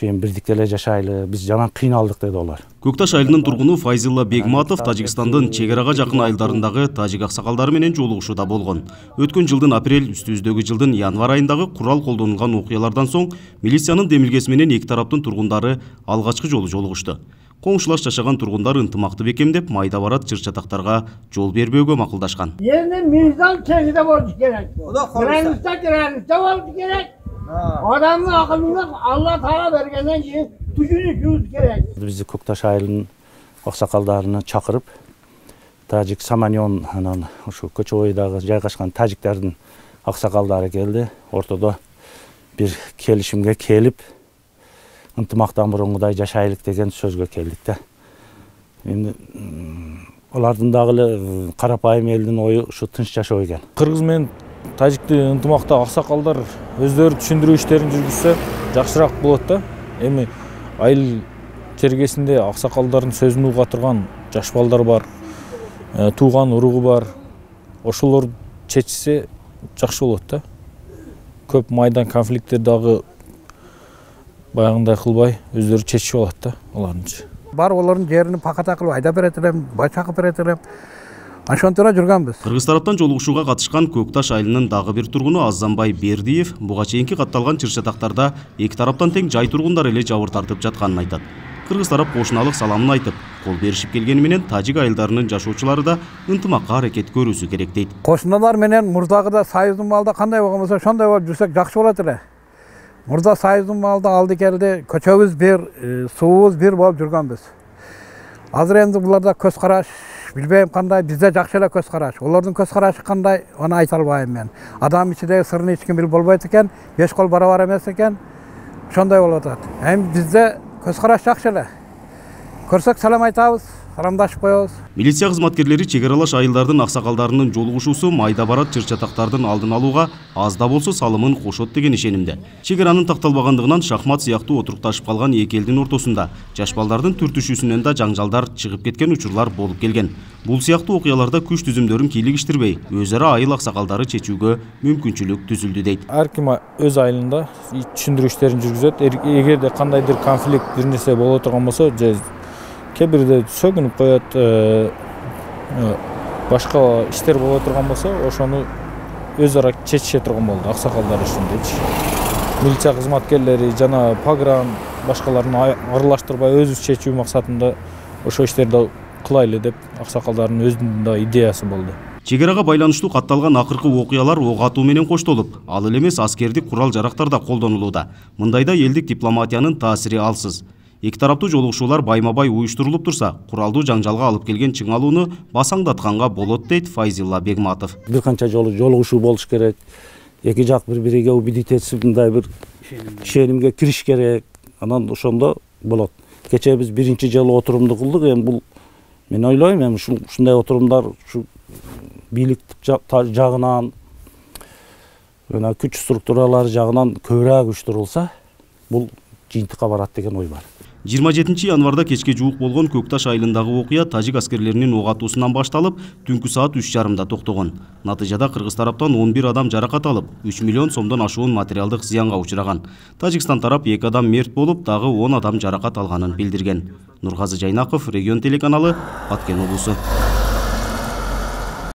эми бирдикте эле жашайлы, биз жаман кыйналдык деди алар. Көкташ айылынын тургуну Файзилла Бегматов Тажикстандын чек арага жакын айылдарындагы тажик аксакалдары менен жолугушууда болгон. Өткөн жылдын апрель, үстүбүздөгү жылдын январь айындагы курал колдонулган окуялардан соң милициянын демилгеси менен эки тараптын тургундары алгачкы жолу жолугушту. Коңшулаш жашаган тургундар ынтымакты бекемдеп, майда барат чыр-чатактарга жол бербөөгө макулдашкан. Эми мыйзам чегиде болуш керек. Граница болуш керек. Адамдын акылына Алла Таала бергенден кийин түшүнүшүбүз керек. Бизди Көкташ айылынын аксакалдарын чакырып, тажик Саманьон анан ушу көчө бойдагы жайгашкан тажиктердин аксакалдары келди. Ортодо бир келишимге келип, ынтымактан бурунгудай жашайлык деген сөзгө келдик да. Эми алардын дагы эле карапайым элдин ою ушу тынч жашоо экен. Кыргыз менен тажикти ынтымакта аксакалдар өздөрү түшүндүрүү иштерин жүргүзсө жакшыраак болот да. Эми айыл чергесинде аксакалдардын сөзүн уга турган жаш балдар бар, тууган уругу бар. Ошолор чечсе жакшы болот да. Көп майдан конфликттер дагы баягындай кылбай өздөрү чечип алат да аларынчы. Бар олардын жерин паката кылып айдап берет элем, бай чакып берет элем. Ошонтора жүргөнбүз. Кыргыз тараптан жолугушууга катышкан Көкташ айылынын дагы бир тургуну Азамбай Бердиев буга чейинки катталган чыр-чатактарда эки тараптан тең жай тургундар эле жабыр тартып жатканын айтат. Кыргыз тарап кошуналык саламын айтып, кол беришип келгени менен тажик айылдарынын жашоочулары да ынтымакка аракет көрүүсү керек дейт. Кошуналар менен мурдагыда союздун маалда кандай болгон болсо ошондой болуп жүрсөк жакшы болот эле. Мурда союздун маалда алды келди, көчөбүз бир, суубуз бир болуп жүргөнбүз. Азыр энди буларда көз караш билбейм кандай, бизде жакшы эле көз караш. Олордун көз карашы кандай, аны айта албайм мен. Адам ичидеги сырын эч ким билип болбойт экен, беш кол барабар эмес экен. Ошондой болуп атат. Эми бизде көз караш жакшы эле. Көрсөк салам айтабыз, саламдашып коебуз. Милиция кызматкерлери чек аралаш айылдардын аксакалдарынын жолугушуусу майда барат чыр-чатактардын алдын алууга аз да болсо салымын кошот деген ишенимде. Чек аранын такталбагандыгынан шахмат сыяктуу отурукташып калган эки элдин ортосунда жаш балдардын түртүшүүсүнөн да жаңжалдар чыгып кеткен учурлар болуп келген. Бул сыяктуу окуяларда күч түзүмдөрүн кийлигиштирбей, өз ара айыл аксакалдары чечүүгө мүмкүнчүлүк түзүлдү дейт. Ар ким өз айылында түшүндүрүү иштерин жүргүзөт. Эгерде кандайдыр конфликт бир нерсе боло турган болсо, кээ бирде сөгүнүп коет, башка иштер боло турган болсо, ошону өз ара чечише турган болду аксакалдар үчүндечи. Милиция кызматкерлери жана погран башкаларын аралаштырбай өзүбүз чечүү максатында ошо иштерди кылайлы деп аксакалдардын өзүнүн да идеясы болду. Чек арага байланыштуу катталган акыркы окуялар ок атуу менен коштолуп, ал эле эмес аскердик курал жарактар да колдонулууда. Мындайда элдик дипломатиянын таасири алсыз. Эки тараптуу жолугушуулар байма-бай уюштурулуп турса, куралдуу жаңжалга алып келген чыңалууну басаңдатканга болот дейт Файзилла Бегматов. Бир канча жолу жолугушуу болуш керек. Эки жак бири-бириге убедить этип, мындай бир ишенимге кириш керек. Анан ошондо болот. Кечээ биз биринчи жолу отурумду кылдык. Эми бул мен ойлойм, эми ушундай отурумдар ушу бийлик жагынан, жана күч структуралары жагынан көбүрөөк уюштурулса, бул жыйынтыкка барат деген ой бар. 27 январда кечке жуук болгон Көкташ айылындагы окуя тажик аскерлеринин ок атуусунан башталып, түнкү саат 3:30 токтогон. Натыйжада кыргыз тараптан 11 адам жаракат алып, 3 миллион сомдон ашуун материалдык зыянга учураган. Тажикстан тарап 2 адам мерт болуп, дагы 10 адам жаракат алганын билдирген. Нургазы Жайнаков, Регион телеканалы, Баткен облусу.